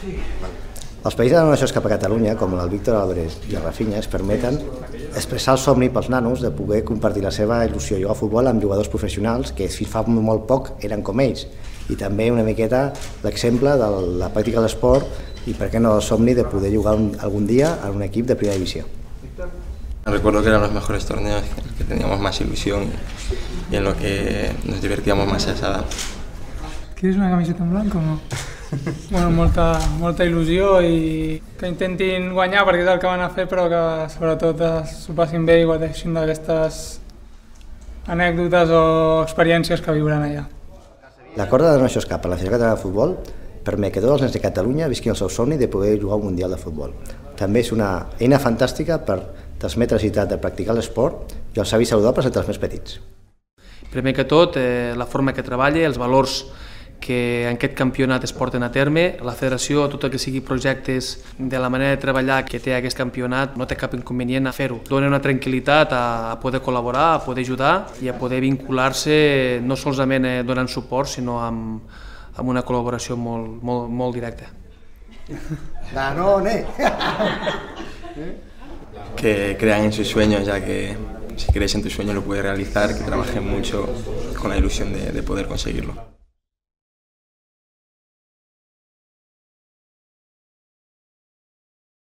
Els països de donacions cap a Catalunya, com el Víctor Álvarez i el Rafinha, es permeten expressar el somni pels nanos de poder compartir la seva il·lusió a jugar a futbol amb jugadors professionals que fins fa molt poc eren com ells. I també una miqueta l'exemple de la pràctica de l'esport y por qué no el somni de poder jugar algún día a un equipo de primera división. Recuerdo que eran los mejores torneos, en los que teníamos más ilusión y en los que nos divertíamos más a esa edad. ¿Quieres una camiseta en blanco o no? Bueno, molta il·lusió i que intentin guanyar perquè és el que van a fer, però que sobretot s'ho passin bé i guardeixin d'aquestes anècdotes o experiències que viuran allà. L'acord de donacions cap a la Federació Catalana de Futbol permet que tots els nens de Catalunya visquin el seu somni de poder jugar un Mundial de Futbol. També és una eina fantàstica per transmetre la necessitat de practicar l'esport i els hàbits saludables entre els més petits. Primer que tot, la forma que treballa, els valors que en aquest campionat es porten a terme. La federació, tot el que sigui projectes de la manera de treballar que té aquest campionat, no té cap inconvenient a fer-ho. Dona una tranquil·litat a poder col·laborar, a poder ajudar i a poder vincular-se no solament donant suport, sinó amb una col·laboració molt directa. ¡Danone! Que crean en sus sueños, ya que si crees en tu sueño lo puedes realizar, que trabajen mucho con la ilusión de poder conseguirlo.